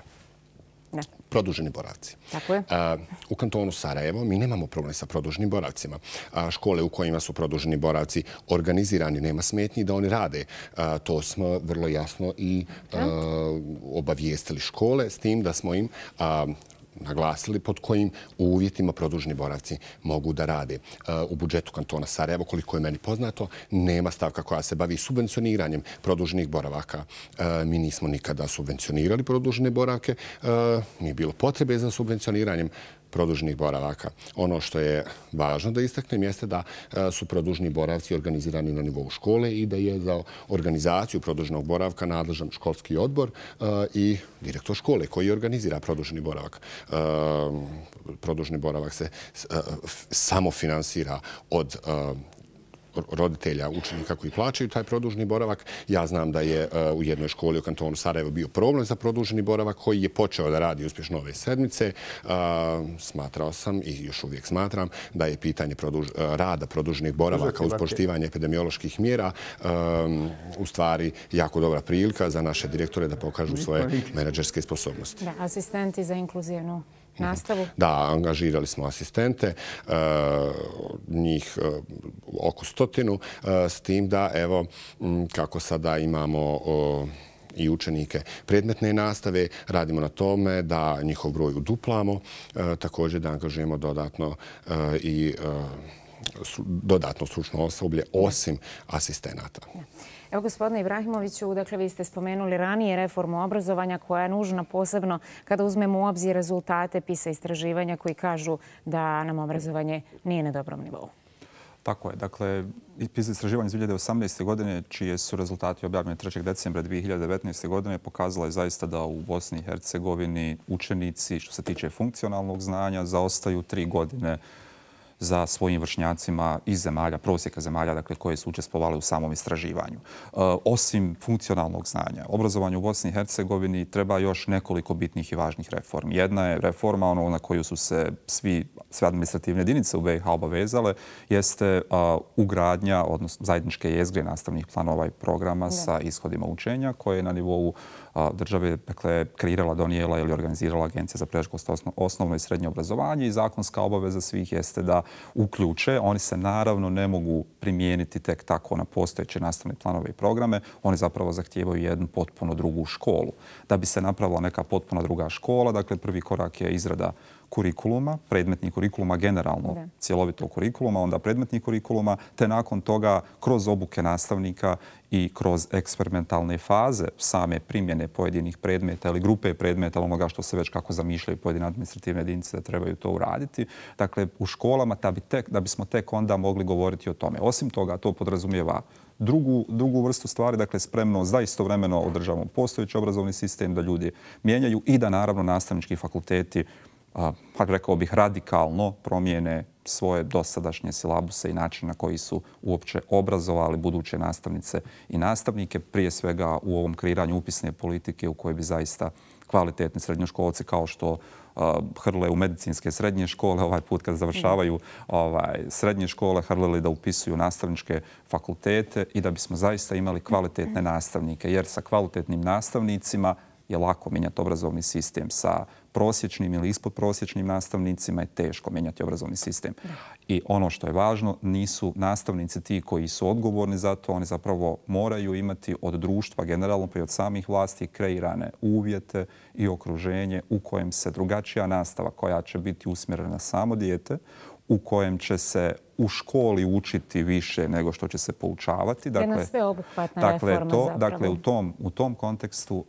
Produženi boravci. Tako je. U kantonu Sarajevo mi nemamo problem sa produženim boravcima. Škole u kojima su produženi boravci organizirani, nema smetnji da oni rade. To smo vrlo jasno i obavijestili škole s tim da smo im naglasili pod kojim uvjetima produženi boravci mogu da rade. U budžetu kantona Sarajevo, koliko je meni poznato, nema stavka koja se bavi subvencioniranjem produženih boravaka. Mi nismo nikada subvencionirali produžene boravke. Nije bilo potrebe za subvencioniranjem produženih boravaka. Ono što je važno da istaknem jeste da su produženi boravci organizirani na nivou škole i da je za organizaciju produženog boravka nadležan školski odbor i direktor škole koji organizira produženi boravak. Produženi boravak se samo finansira od roditelja, učenika koji plaćaju taj produženi boravak. Ja znam da je u jednoj školi u kantonu Sarajevo bio problem za produženi boravak koji je počeo da radi uspješno ove sedmice. Smatrao sam i još uvijek smatram da je pitanje rada produženih boravaka uz poštivanje epidemioloških mjera u stvari jako dobra prilika za naše direktore da pokažu svoje menadžerske sposobnosti. Da, asistenti za inkluzivnu nastavu? Da, angažirali smo asistente, njih oko 100, s tim da, evo, kako sada imamo i učenike predmetne nastave, radimo na tome da njihov broj uduplamo, također da angažujemo dodatno i dodatno stručno osoblje osim asistenata. Evo, gospodine Ibrahimoviću, dakle, vi ste spomenuli ranije reformu obrazovanja koja je nužna posebno kada uzmemo u obzir rezultate PISA istraživanja koji kažu da nam obrazovanje nije na dobrom nivou. Tako je. Dakle, PISA istraživanje iz 2018. godine, čije su rezultati objavljeni 3. decembra 2019. godine, pokazala je zaista da u Bosni i Hercegovini učenici, što se tiče funkcionalnog znanja, zaostaju 3 godine za svojim vršnjacima iz zemalja, prosjeka zemalja, dakle, koje su učestvovale u samom istraživanju. Osim funkcionalnog znanja, obrazovanje u Bosni i Hercegovini treba još nekoliko bitnih i važnih reformi. Jedna je reforma, na koju su se sve administrativne jedinice u BiH obavezale, jeste ugradnja, odnosno zajedničke jezgre nastavnih planova i programa sa ishodima učenja, koje je na nivou države kreirala, donijela ili organizirala Agencija za predškolsko osnovno i srednje obrazovanje i zakonska obaveza svih jeste da uključe. Oni se naravno ne mogu primijeniti tek tako na postojeće nastavne planove i programe. Oni zapravo zahtijevaju jednu potpuno drugu školu. Da bi se napravila neka potpuno druga škola, dakle prvi korak je izrada kurikuluma, predmetnih kurikuluma, generalno cjelovitog kurikuluma, onda predmetnih kurikuluma, te nakon toga kroz obuke nastavnika i kroz eksperimentalne faze same primjene pojedinih predmeta ili grupe predmeta, onoga što se već kako zamišljaju pojedine administrativne jedinice da trebaju to uraditi. Dakle, u školama da bismo tek onda mogli govoriti o tome. Osim toga, to podrazumijeva drugu vrstu stvari, dakle spremnost da istovremeno održavamo postojeći obrazovni sistem, da ljudi mijenjaju i da naravno nastavnički fakulteti rekao bih, radikalno promijene svoje dosadašnje silabuse i način na koji su uopće obrazovali buduće nastavnice i nastavnike, prije svega u ovom kreiranju upisne politike u kojoj bi zaista kvalitetni srednjoškolci kao što hrle u medicinske srednje škole, ovaj put kad završavaju srednje škole, hrlili da upisuju nastavničke fakultete i da bismo zaista imali kvalitetne nastavnike, jer sa kvalitetnim nastavnicima je lako mijenjati obrazovni sistem. Sa prosječnim ili ispodprosječnim nastavnicima je teško mijenjati obrazovni sistem. I ono što je važno, nisu nastavnici ti koji su odgovorni za to. Oni zapravo moraju imati od društva generalno pa i od samih vlasti kreirane uvjete i okruženje u kojem se drugačija nastava koja će biti usmjerena na samo dijete, u kojem će se u školi učiti više nego što će se poučavati. Jedna sveobuhvatna reforma zapravo. Dakle, u tom kontekstu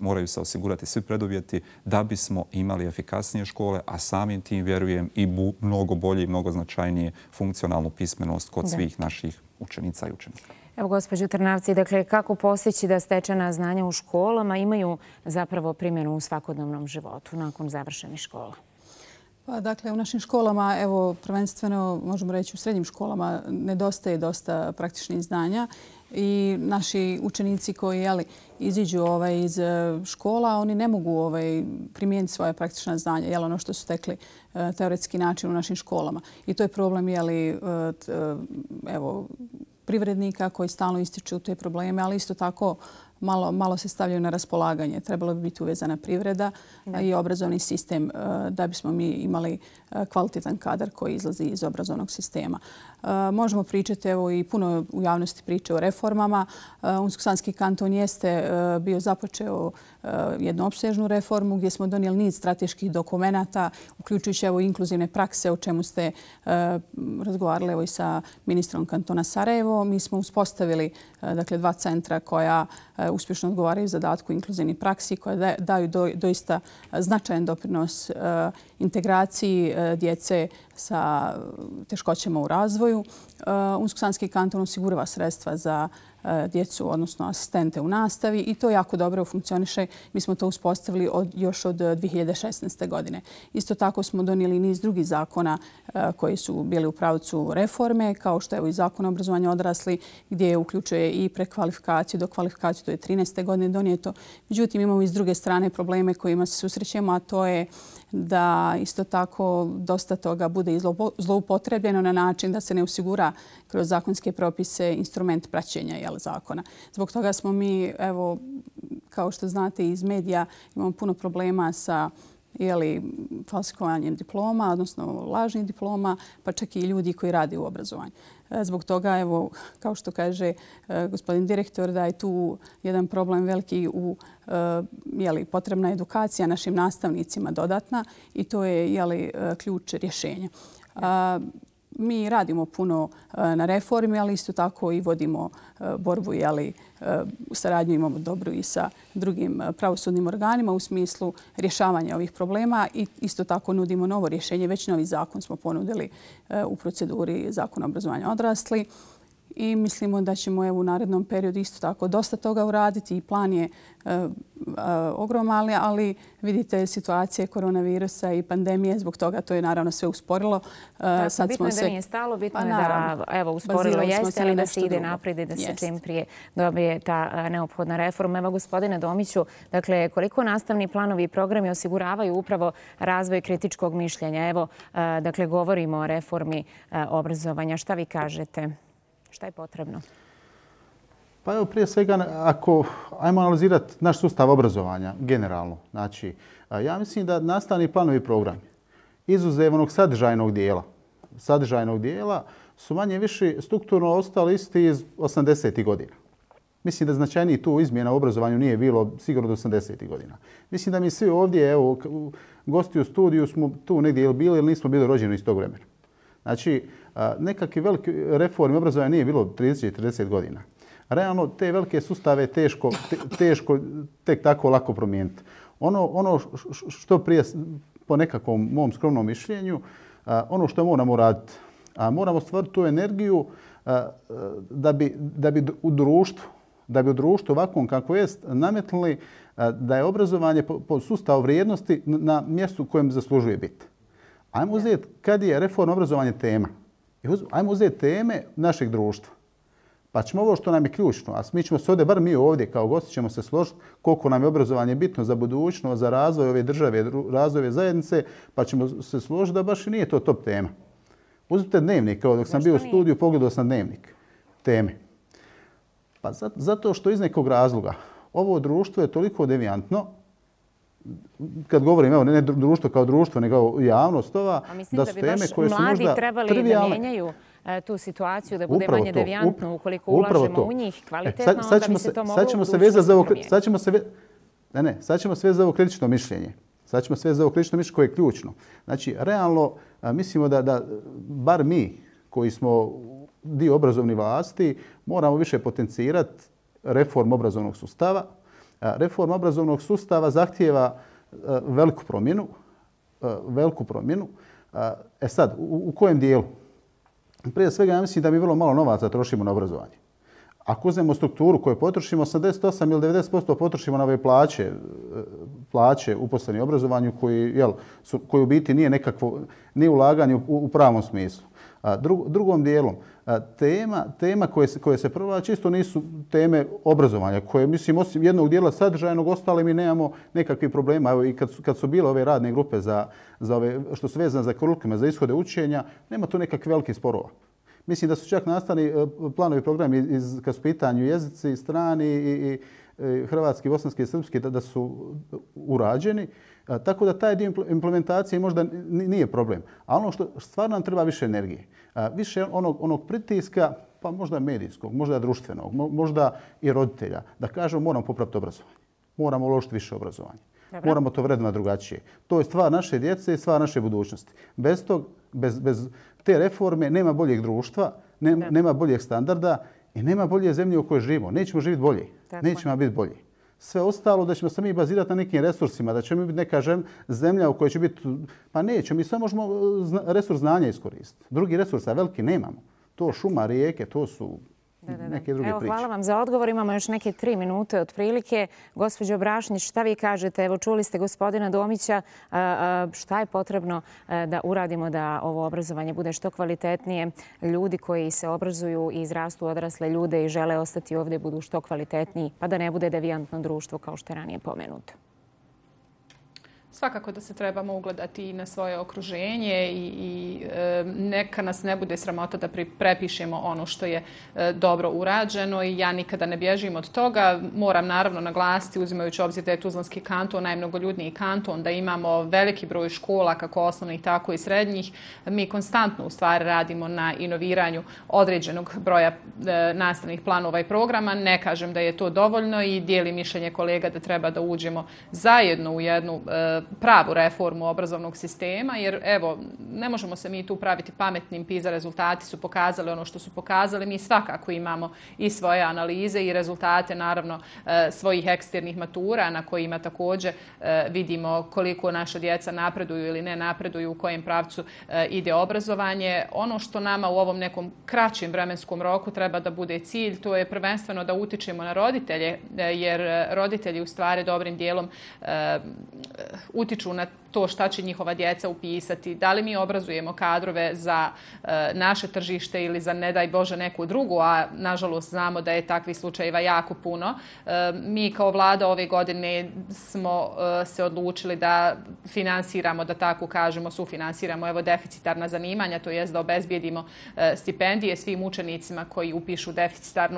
moraju se osigurati svi preduvjeti da bismo imali efikasnije škole, a samim tim, vjerujem, i mnogo bolje i mnogo značajnije funkcionalnu pismenost kod svih naših učenica i učenika. Evo, gospođo Trnavci, dakle, kako postići da stečena znanja u školama imaju zapravo primjenu u svakodnevnom životu nakon završenih škola? Pa, dakle, u našim školama, evo, prvenstveno, možemo reći u srednjim školama, nedostaje dosta praktičnih znanja i naši učenici koji iziđu iz škola, oni ne mogu primijeniti svoje praktična znanja, ono što su stekli teoretski način u našim školama. I to je problem, privrednika koji stalno ističu te probleme, ali isto tako malo se stavljaju na raspolaganje. Trebalo bi biti uvezana privreda i obrazovni sistem da bismo mi imali kvalitetan kadar koji izlazi iz obrazovnog sistema. Možemo pričati, evo i puno u javnosti priče o reformama. Unsko-sanski kanton jeste bio započeo jednu opsežnu reformu gdje smo donijeli niz strateških dokumenata, uključujući evo inkluzivne prakse o čemu ste razgovarali evo i sa ministrom kantona Sarajevo. Mi smo uspostavili dakle 2 centra koja uspješno odgovaraju zadatku inkluzivnih praksi, koja daju doista značajan doprinos integraciji djece sa teškoćama u razvoju. Unsko-sanski kanton osigurava sredstva za djecu, odnosno asistente u nastavi i to jako dobro funkcioniše. Mi smo to uspostavili još od 2016. godine. Isto tako smo donijeli niz drugih zakona koji su bili u pravcu reforme, kao što je i Zakon o obrazovanju odraslih, gdje uključuje i prekvalifikaciju, dokvalifikaciju, to je 2013. godine donijeto. Međutim, imamo i s druge strane probleme kojima se susrećemo, a to je da isto tako dosta toga bude zloupotrebljeno na način da se ne osigura kroz zakonske propise instrument praćenja zakona. Zbog toga smo mi, evo, kao što znate iz medija, imamo puno problema sa falsifikovanjem diploma, odnosno lažnih diploma, pa čak i ljudi koji rade u obrazovanju. Zbog toga, evo, kao što kaže gospodin direktor, da je tu jedan problem veliki potrebna edukacija našim nastavnicima dodatna i to je ključ rješenja. Mi radimo puno na reformi, ali isto tako i vodimo borbu, saradnju imamo dobru i sa drugim pravosudnim organima u smislu rješavanja ovih problema i isto tako nudimo novo rješenje. Već novi zakon smo ponudili u proceduri Zakona o obrazovanju odraslih i mislimo da ćemo u narednom periodu isto tako dosta toga uraditi i plan je ogroman, ali vidite situacije koronavirusa i pandemije, zbog toga to je naravno sve usporilo. Bitno je da nije stalo, bitno je da usporilo jeste, ali da se ide naprijed i da se čim prije dobije ta neophodna reforma. Evo, gospodine Domiću, dakle, koliko nastavni planovi i programi osiguravaju upravo razvoj kritičkog mišljenja? Evo, dakle, govorimo o reformi obrazovanja. Šta vi kažete? Šta je potrebno? Pa evo, prije svega, ajmo analizirati naš sustav obrazovanja generalno. Znači, ja mislim da nastavni planovi i programi, izuzev onog sadržajnog dijela, su manje više strukturno ostali isti iz 80. godina. Mislim da značajniji tu izmjena u obrazovanju nije bilo sigurno do 80. godina. Mislim da mi svi ovdje, evo, gosti u studiju smo tu negdje ili bili ili nismo bili rođeni iz tog vremena. Znači, nekakve velike reforme obrazovanja nije bilo 30-40 godina. Realno, te velike sustave teško tek tako lako promijeniti. Ono što prije, po nekakvom mom skromnom mišljenju, ono što moramo raditi, moramo stvoriti tu energiju da bi u društvu ovakvom kako jest nametnuli da je obrazovanje po sustavu vrijednosti na mjestu u kojem zaslužuje biti. Ajmo uzeti kad je reforma obrazovanja tema. Ajmo uzeti teme našeg društva. Pa ćemo ovo što nam je ključno, a mi ćemo se ovdje, bar mi ovdje kao gosti ćemo se složiti koliko nam je obrazovanje bitno za budućnost, za razvoj ove države, razvoj ove zajednice, pa ćemo se složiti da baš i nije to top tema. Uzmite dnevnik, kao dok sam bio u studiju, pogledao sam dnevnik teme. Pa zato što iz nekog razloga ovo društvo je toliko devijantno, kad govorim, evo, ne društvo kao društvo, nego javnost ova, da su teme koje su možda trivijalne. Mladi trebali da mijenjaju tu situaciju, da bude manje devijantno, ukoliko ulažemo u njih kvalitetno, onda bi se to moglo u budućnosti promijeniti. Sad ćemo sve za ovo kritično mišljenje. Sad ćemo sve za ovo kritično mišljenje koje je ključno. Znači, realno, mislimo da bar mi, koji smo dio obrazovnih vlasti, moramo više potencirati reformu obrazovnog sustava. Reforma obrazovnog sustava zahtijeva veliku promjenu. Sad, u kojem dijelu? Prije svega, ja mislim da mi vrlo malo novaca trošimo na obrazovanje. Ako uzmemo strukturu koju potrošimo, 88 ili 90% potrošimo na ove plaće uposlenih u obrazovanju koji u biti nije ulaganje u pravom smislu. Drugom dijelom, tema koje se provlače isto nisu teme obrazovanja, koje, mislim, osim jednog dijela sadržajnog, ostale mi nemamo nekakvih problema. Evo, i kad su bile ove radne grupe za ove, što su vezane za kurikuluma, za ishode učenja, nema tu nekakvih velikih sporova. Mislim da su čak nastavni planovi programi kad su pitanju jezici, strani i hrvatski, bosanski i srpski da su urađeni. Tako da taj dio implementacije možda nije problem. A ono što stvarno nam treba više energije. Više onog pritiska, pa možda medijskog, možda društvenog, možda i roditelja. Da kažemo moramo popraviti obrazovanje. Moramo uložiti više obrazovanja. Moramo to vrednovati drugačije. To je stvar naše djece i stvar naše budućnosti. Bez te reforme nema boljeg društva, nema boljeg standarda i nema bolje zemlje u kojoj živimo. Nećemo živjeti bolje. Nećemo biti bolji. Sve ostalo da ćemo se mi bazirati na nekim resursima, da ćemo biti neka zemlja u kojoj će biti... Pa nećemo, mi samo možemo resurs znanja iskoristiti. Drugi resursa veliki nemamo. To šuma, rijeke, to su neke druge priče. Hvala vam za odgovor. Imamo još neke 3 minute otprilike. Gospođo Brašnić, šta vi kažete? Evo, čuli ste gospodina Domića. Šta je potrebno da uradimo da ovo obrazovanje bude što kvalitetnije? Ljudi koji se obrazuju i izrastu odrasle ljude i žele ostati ovdje budu što kvalitetniji, pa da ne bude devijantno društvo kao što je ranije pomenuto. Svakako da se trebamo ugledati i na svoje okruženje i neka nas ne bude sramota da prepišemo ono što je dobro urađeno i ja nikada ne bježim od toga. Moram naravno naglasiti, uzimajući obzir da je Tuzlanski kanton najmnogoljudniji kanton, da imamo veliki broj škola, kako osnovnih, tako i srednjih. Mi konstantno u stvari radimo na inoviranju određenog broja nastavnih planova i programa. Ne kažem da je to dovoljno i dijelim mišljenje kolega da treba da uđemo zajedno u jednu pravu reformu obrazovnog sistema, jer evo, ne možemo se mi tu praviti pametnim, PISA rezultati su pokazali ono što su pokazali. Mi svakako imamo i svoje analize i rezultate, naravno, svojih eksternih matura na kojima također vidimo koliko naša djeca napreduju ili ne napreduju, u kojem pravcu ide obrazovanje. Ono što nama u ovom nekom kraćem vremenskom roku treba da bude cilj, to je prvenstveno da utičemo na roditelje, jer roditelji u stvari dobrim dijelom utiču na to šta će njihova djeca upisati, da li mi obrazujemo kadrove za naše tržište ili za, ne daj Bože, neku drugu, a nažalost znamo da je takvih slučajeva jako puno. Mi kao vlada ove godine smo se odlučili da finansiramo, da tako kažemo, sufinansiramo deficitarna zanimanja, to jest da obezbijedimo stipendije svim učenicima koji upišu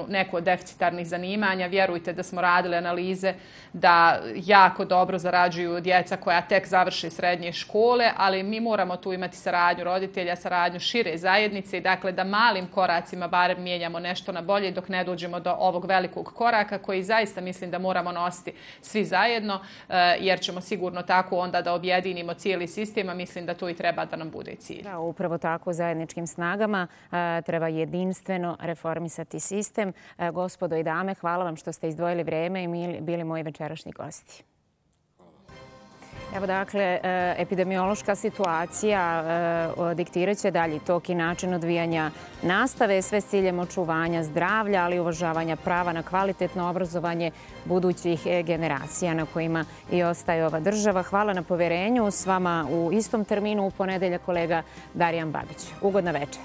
neko od deficitarnih zanimanja. Vjerujte da smo radili analize da jako dobro zarađuju djeca koja tek završe srednje škole, ali mi moramo tu imati saradnju roditelja, saradnju šire zajednice i dakle da malim koracima barem mijenjamo nešto na bolje dok ne dođemo do ovog velikog koraka koji zaista mislim da moramo nositi svi zajedno, jer ćemo sigurno tako onda da objedinimo cijeli sistem, a mislim da to i treba da nam bude cilj. Da, upravo tako, zajedničkim snagama treba jedinstveno reformisati sistem. Gospodo i dame, hvala vam što ste izdvojili vrijeme i bili moji večerašnji gosti. Evo dakle, epidemiološka situacija diktirat će dalji tok i način odvijanja nastave, sve s ciljem očuvanja zdravlja, ali i uvažavanja prava na kvalitetno obrazovanje budućih generacija na kojima i ostaje ova država. Hvala na poverenju. S vama u istom terminu u ponedeljak kolega Darijan Babić. Ugodna večer.